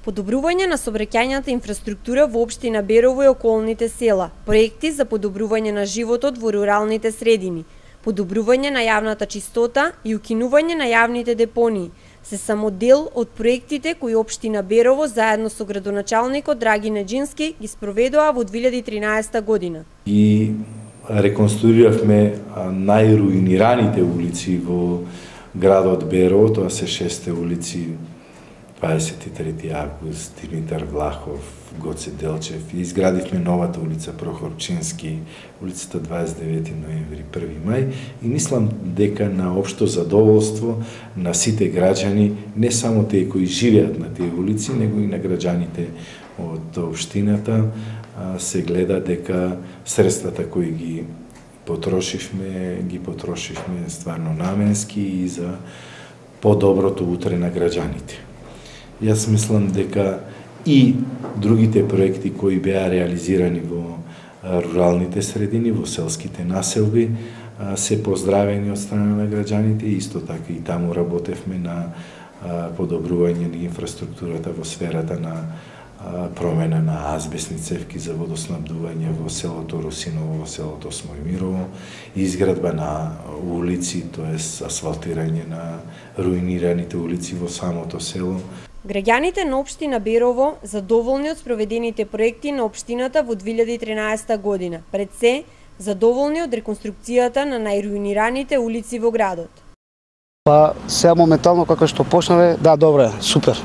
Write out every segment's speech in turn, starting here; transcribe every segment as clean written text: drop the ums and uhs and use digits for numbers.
Подобрување на сообраќајната инфраструктура во општина Берово и околните села, проекти за подобрување на животот во руралните средини, подобрување на јавната чистота и укинување на јавните депонии се само дел од проектите кои општина Берово заедно со градоначалникот Драги Неџински ги спроведоа во 2013 година. И реконструиравме најруинираните улици во градот Берово, тоа се 6 улици, 23 август, Димитар Влахов, Гоце Делчев, и изградивме новата улица Прохорчински, улицата 29 ноември, 1 мај, и мислам дека на општо задоволство на сите граѓани, не само тие кои живеат на тие улици, него и на граѓаните од општината, се гледа дека средствата кои ги потрошивме стварно наменски и за подоброто утре на граѓаните. Јас мислам дека и другите проекти кои беа реализирани во руралните средини, во селските населби, се поздравени од страна на граѓаните, исто така и таму работевме на подобрување на инфраструктурата во сферата на промена на азбесни цевки за водоснабдување во селото Русиново, во селото Смојмирово, изградба на улици, тоест асфалтирање на руинираните улици во самото село. Граѓаните на општина Берово задоволни од спроведените проекти на општината во 2013 година, пред се задоволни од реконструкцијата на најруинираните улици во градот. Па сега моментално како што почнале, да, добро, супер.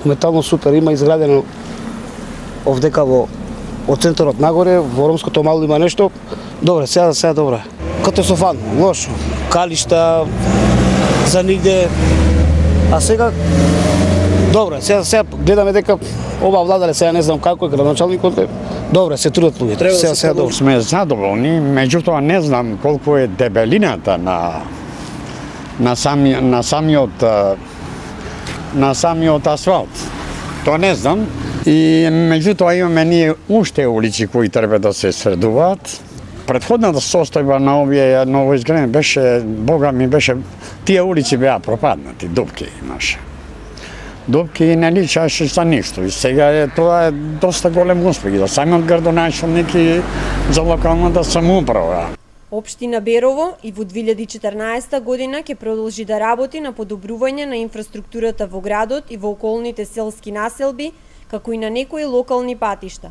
Моментално супер, има изградено овдека од центарот нагоре, во Ромското мало има нешто. Добре, сега добро. Катастрофално, лошо. Калишта за нигде. А сега добре, сега гледаме дека ова владале, сега не знам како е градоначалникот, добре, се трудат луѓето. Сега добро. Сме задоволни, меѓутоа не знам колку е дебелината на самиот асфалт. Тоа не знам. И меѓутоа имаме ние уште улици кои треба да се средуваат. Претходната состојба на овие новоизградени беше, Бога ми беше, тие улици беа пропаднати, дупки имаше. Дупки не личаше за ништо и сега тоа е доста голем успех и за самиот градоначалник и за локалната самоуправа. Општина Берово и во 2014 година ќе продолжи да работи на подобрување на инфраструктурата во градот и во околните селски населби, како и на некои локални патишта.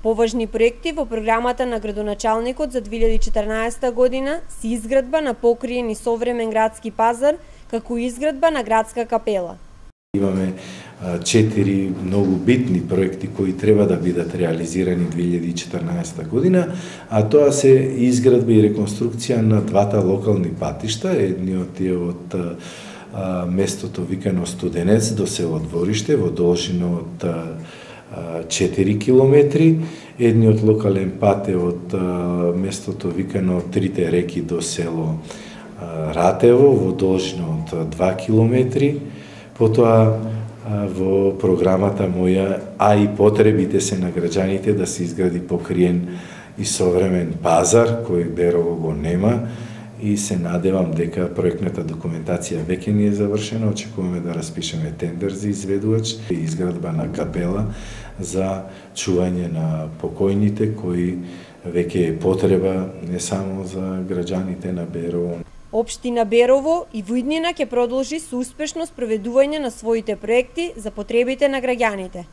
Поважни проекти во програмата на градоначалникот за 2014 година се изградба на покриен и современ градски пазар, како и изградба на градска капела. Имаме 4 многу битни проекти кои треба да бидат реализирани 2014 година, а тоа се изградба и реконструкција на двата локални патишта, едниот е од местото викано Студенец до село Двориште во должина од 4 километри, едниот локален пат е од местото викано Трите реки до село Ратево во должина од 2 километри. Потоа во програмата моја, а и потребите се на граѓаните да се изгради покриен и современ пазар, кој Берово го нема, и се надевам дека проектната документација веќе ни е завршена, очекуваме да распишеме тендер за изведувач и изградба на капела за чување на покојните кои веќе е потреба не само за граѓаните на Берово. Општина Берово и во иднина ќе продолжи со успешно спроведување на своите проекти за потребите на граѓаните.